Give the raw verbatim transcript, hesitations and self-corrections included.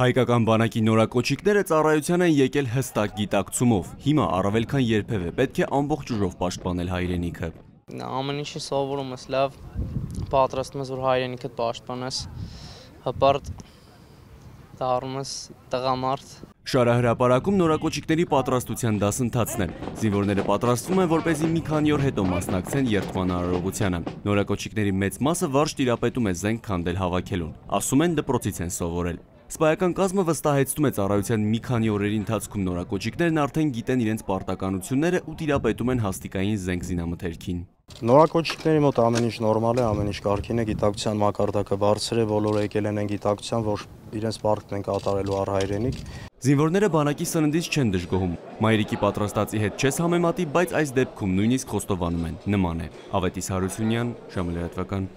Հայկական բանակի նորակոչիկները ծառայության են եկել հստակ գիտակցումով, հիմա առավել քան երբևէ պետք է ամբողջ ուժով պաշտպանել հայրենիքը։ Ամեն ինչի սովորում ես լավ, պատրաստում ես, որ հայրենիքդ պաշտպանես, հպարտ դառնում ես տղամարդ։ Շարահրապարակում նորակոչիկների պատրաստության դասընթացն է։ Զինվորները պատրաստվում են, որպեսզի մի քանի օր հետո մասնակցեն երթման արարողությանը։ Նորակոչիկների մեծ մասը վարժ տիրապետում է զենք քանդել հավաքելուն։ Ասում են դպրոցից են սովորել։ Սպայական կազմը վստահեցնում է ծառայության մի քանի օրերի ընթացքում նորակոչիկներն արդեն գիտեն իրենց պարտականությունները ու տիրապետում են հաստիկային զենք զինամթերքին։ Նորակոչիկների մոտ ամեն ինչ նորմալ է, ամեն ինչ կարգին է, գիտակցության մակարդակը բարձր է, բոլորը եկել են այն գիտակցության, որ իրենց պարտքն են կատարելու առ հայրենիք։ Զինվորները բանակի սննդից չեն դժգոհում։ Մայրիկի պատրաստածի հետ չես համեմատի, բայց այս դեպքում նույնիսկ խոստովանում են, նման է։ Ավետիս Հարությունյան, Ժամը լրատվական։